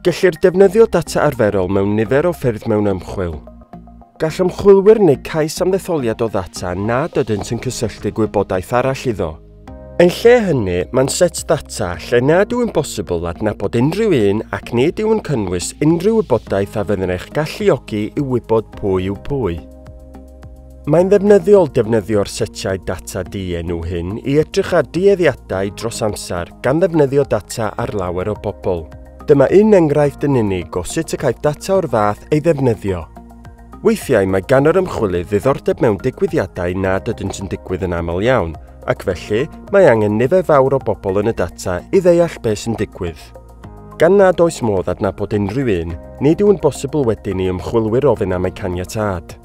Gellir defnyddio data arferol mewn nifer o ffyrdd mewn ymchwil. Gall ymchwilwyr wneud cais am ddetholiad o ddata nad ydynt yn cysylltu gwybodaeth arall iddo. Yn lle hynny, mae'n set ddata lle nad yw'n bosibl adnabod unrhyw un ac nid yw'n cynnwys unrhyw wybodaeth a fydd yn eich galluogi i wybod pwy yw pwy. Mae'n ddefnyddiol defnyddio'r setiau data dienw hyn i edrych ar dueddiadau dros amser gan ddefnyddio data ar lawer o bobl. Dyma un enghraifft yn unig o sut y caiff data o'r fath ei ddefnyddio. Weithiau mae gan yr ymchwilydd ddiddordeb mewn digwyddiadau nad ydynt yn digwydd yn aml iawn, ac felly mae angen nifer fawr o bobl yn y data i ddeall beth sy'n digwydd. Gan nad oes modd adnabod unrhyw un, nid yw'n bosibl wedyn i ymchwilwyr ofyn am eu caniatâd.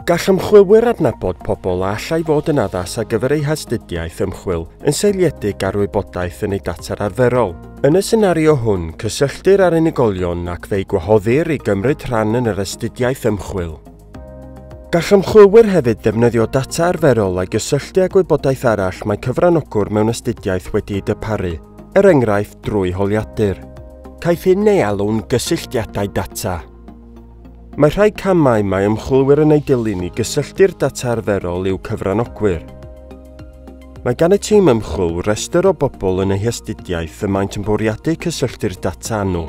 Gall ymchwilwyr adnabod pobl a allai fod yn addas ar gyfer eu hastudiaeth ymchwil yn seiliedig ar wybodaeth yn eu data arferol. Yn y senario hwn, cysylltir â'r unigolion ac fe'u gwahoddir i gymryd rhan yn yr astudiaeth ymchwil. Gall ymchwilwyr hefyd ddefnyddio data arferol a'i gysylltu â gwybodaeth arall mae cyfranogwr mewn astudiaeth wedi'i darparu, er enghraifft drwy holiadur. Caiff hyn ei alw'n gysylltiadau data. Mae rhai camau mae ymchwilwyr yn eu dilyn i gysylltu'r data arferol i'w cyfranogwyr. Mae gan y tîm ymchwil restr o bobl yn eu hastudiaeth y maent yn bwriadu cysylltu'r data â nhw.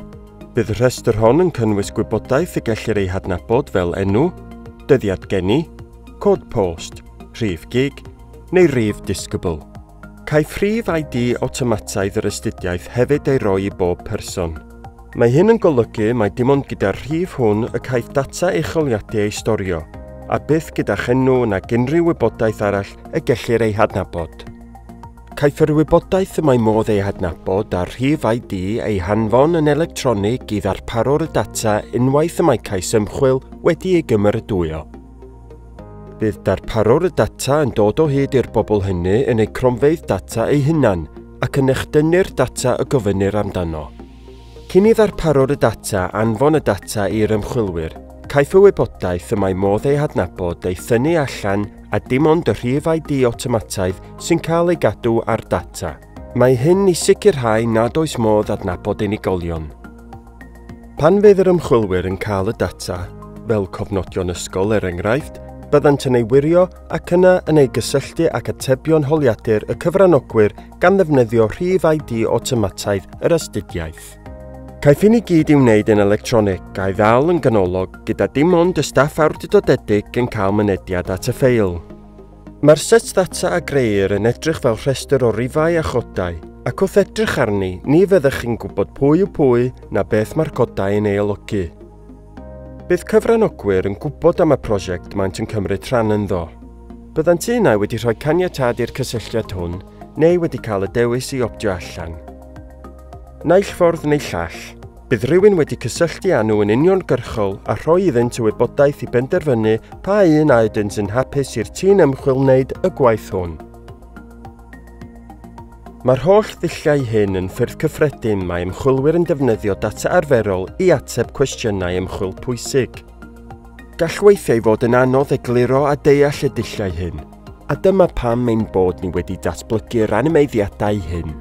Bydd y rhestr hon yn cynnwys gwybodaeth y gellir ei hadnabod fel enw, dyddiad geni, cod post, rhif gig neu rif disgybl. Caiff rhif ID awtomataidd yr astudiaeth hefyd ei roi i bob person. Mae hyn yn golygu mai dim ond gyda'r rhif hwn y caiff data eich holiadu ei storio, a byth gyda'ch enw nag unrhyw wybodaeth arall y gellir ei hadnabod. Caiff yr wybodaeth y mae modd ei hadnabod a'r rhif ID ei hanfon yn electronig i ddarparwr y data unwaith y mae cais ymchwil wedi ei gymeradwyo. Bydd darparwr y data yn dod o hyd i'r bobl hynny yn eu cronfeydd data eu hunain ac yn echdynnu'r data y gofynnir amdano. Cyn i ddarparwr y data anfon y data i'r ymchwilwyr, caiff y wybodaeth y mae modd ei hadnabod ei thynnu allan a dim ond y rhif ID awtomataidd sy'n cael ei gadw ar data. Mae hyn i sicrhau nad oes modd adnabod unigolion. Pan fydd yr ymchwilwyr yn cael y data, fel cofnodion ysgol er enghraifft, byddant yn ei wirio ac yna yn ei gysylltu ag atebion holiadur y cyfranogwyr gan ddefnyddio rhif ID awtomataidd yr astudiaeth. Caiff hyn i gyd i'w wneud yn electronig a'i ddal yn ganolog gyda dim ond y staff awdurdodedig yn cael mynediad at y ffeil. Mae'r set ddata a grëir yn edrych fel rhestr o rifau a chodau, ac wrth edrych arni, ni fyddech chi'n gwybod pwy yw pwy na beth mae'r codau yn ei olygu. Bydd cyfranogwyr yn gwybod am y prosiect maent yn cymryd rhan ynddo. Byddant un ai wedi rhoi caniatâd i'r cysylltiad hwn, neu wedi cael y dewis i optio allan. Naill ffordd neu llall, bydd rhywun wedi cysylltu â nhw yn uniongyrchol a rhoi iddynt y wybodaeth i benderfynu pa un a ydynt yn hapus i'r tîm ymchwil wneud y gwaith hwn. Mae'r holl ddulliau hyn yn ffyrdd cyffredin mae ymchwilwyr yn defnyddio data arferol i ateb cwestiynau ymchwil pwysig. Gall weithiau fod yn anodd egluro a deall y dulliau hyn, a dyma pam ein bod ni wedi datblygu'r animeiddiadau hyn.